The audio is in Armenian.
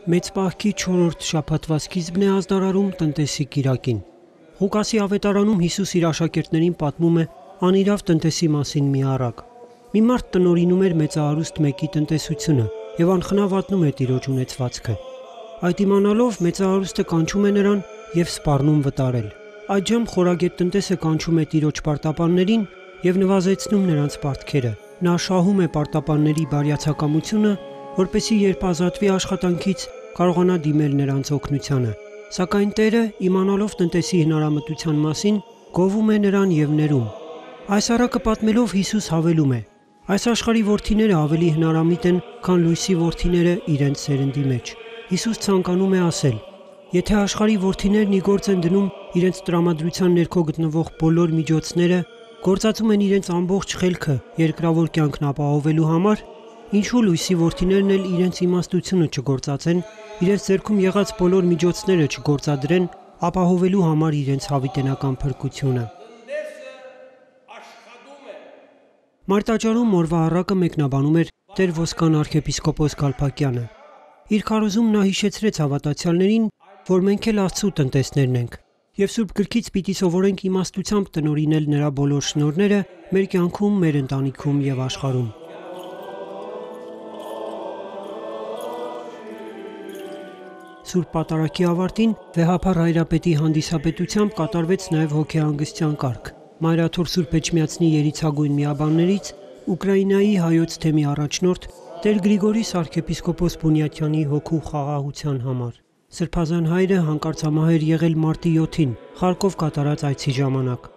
Մեծ պահքի 4-րդ շաբաթվա սկիզբն է ազդարարում տնտեսի կիրակին։ Ղուկասի ավետարանում Հիսուս իր աշակերտներին պատմում է անիրավ տնտեսի մասին մի առակ։ Մի մարդ տնօրինում էր մեծահարուստ մեկի տնտեսությունը եւ անխնա վատնում էր տիրոջ ունեցվածքը։ Այդ իմանալով մեծահարուստը կանչում է նրան եւ սպառնում վտարել։ Այդժամ խորագետ տնտեսը կանչում է տիրոջ պարտապաններին եւ նվազեցնում նրանց պարտքերը։ Նա շահում է պարտապանների բարյացակամությունը, որպեսզի երբ ազատվի աշխատանքից կարողանա դիմել նրանց օգնությանը, սակայն Տերը, իմանալով տնտեսի հնարամտության մասին, գովում է նրան եւ ներում։ Այս առակը պատմելով Հիսուս հավելում է. այս աշխարհի որդիները ավելի հնարամիտ են, քան լույսի որդիները իրենց սերնդի մեջ։ Հիսուս ցանկանում է ասել. եթե աշխարհի որդիներն ի գործ են դնում իրենց տրամադրության ներքո գտնվող բոլոր միջոցները, գործածում են իրենց ամբողջ խելքը երկրավոր կյանքն ապահովելու համար, ինչու լույսի որդիներն էլ իրենց իմաստությունը չգործածեն, իրենց ձեռքում եղած բոլոր միջոցները չգործադրեն ապահովելու համար իրենց հավիտենական փրկությունը։ Մարտաճարում օրվա առակը մեկնաբանում էր Տեր Ոսկան arczepiskopos Գալփակյանը։ Իր քարոզում նա հիշեցրեց հավատացյալներին, որ մենք էլ Աստծո տնտեսներն ենք, եւ Սուրբ Գրքից պիտի սովորենք իմաստությամբ տնօրինել նրա բոլոր շնորհները մեր կյանքում, մեր ընտանիքում եւ աշխարհում։ Սուրբ Պատարագի ավարտին Վեհափառ Հայրապետի հանդիսապետությամբ կատարվեց նաև հոգեհանգստյան կարգ։ Մայրաթոր Սուրբ Էջմիածնի երիցագույն միաբաններից Ուկրաինայի հայոց թեմի առաջնորդ Տեր Գրիգորիս arczepiskopos Բունյաթյանի հոգու խաղաղության համար։ Սրբազան հայրը հանկարծամահ էր եղել մարտի 7-ին Խարկով կատարած այցի ժամանակ։